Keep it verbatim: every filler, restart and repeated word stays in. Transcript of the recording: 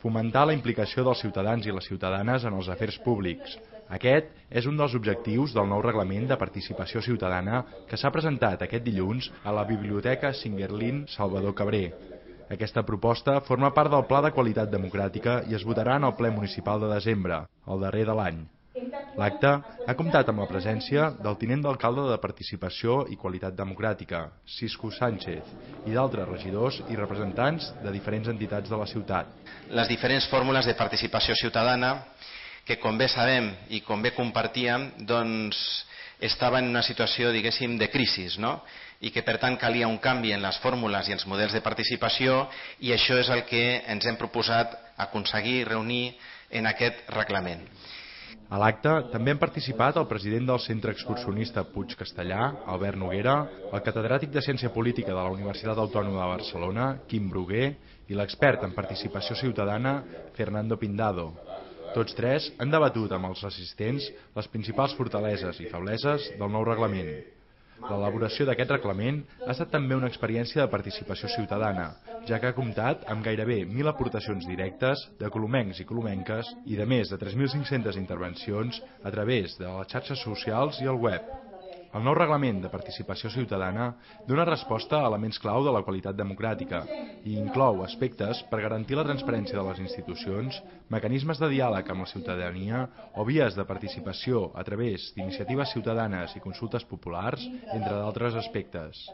Fomentar la implicació dels ciutadans i les ciutadanes en els afers públics. Aquest és un dels objectius del nou reglament de participació ciutadana que s'ha presentat aquest dilluns a la Biblioteca Singuerlín Salvador Cabré. Aquesta proposta forma part del Pla de Qualitat Democràtica i es votarà en el ple municipal de desembre, el darrer de l'any. L'acte ha comptat amb la presència del tinent d'alcalde de Participació i Qualitat Democràtica, Cisco Sánchez, i d'altres regidors i representants de diferents entitats de la ciutat. Les diferents fórmules de participació ciutadana, que com bé sabem i com bé compartíem, doncs estaven en una situació, diguéssim, de crisi, no? I que per tant calia un canvi en les fórmules i els models de participació, i això és el que ens hem proposat aconseguir reunir en aquest reglament. A l'acte també han participat el president del Centre Excursionista Puig Castellà, Albert Noguera, el catedràtic de Ciència Política de la Universitat Autònoma de Barcelona, Quim Bruguer, i l'expert en participació ciutadana, Fernando Pindado. Tots tres han debatut amb els assistents les principals fortaleses i febleses del nou reglament. L'elaboració d'aquest reglament ha estat també una experiència de participació ciutadana, ja que ha comptat amb gairebé mil aportacions directes de colomencs i colomenques i de més de tres mil cinc-centes intervencions a través de les xarxes socials i el web. El nou reglament de participació ciutadana dona resposta a elements clau de la qualitat democràtica i inclou aspectes per garantir la transparència de les institucions, mecanismes de diàleg amb la ciutadania o vies de participació a través d'iniciatives ciutadanes i consultes populars, entre d'altres aspectes.